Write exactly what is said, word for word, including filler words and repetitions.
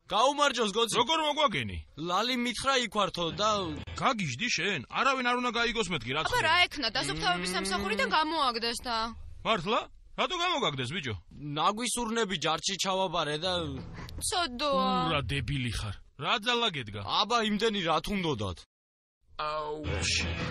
გაუმარჯოს გოცი. როგორ მოგვაგენი? ლალი მითხრა იქვართო და გაგიჟდი შენ? არავინ არ უნდა გაიგოს მეთქი რაც. აბა რა ექნა დასუფთავების სამსახურიდან გამოაგდეს და. მართლა? რატო გამოგაგდეს ბიჭო? ნაგვისურნები ჯარში ჩავაბარე და ცოდოა. ურა დებილი ხარ. რა ძალა გედგა? აბა იმდენი რა თუნდოდათ. აუჩ.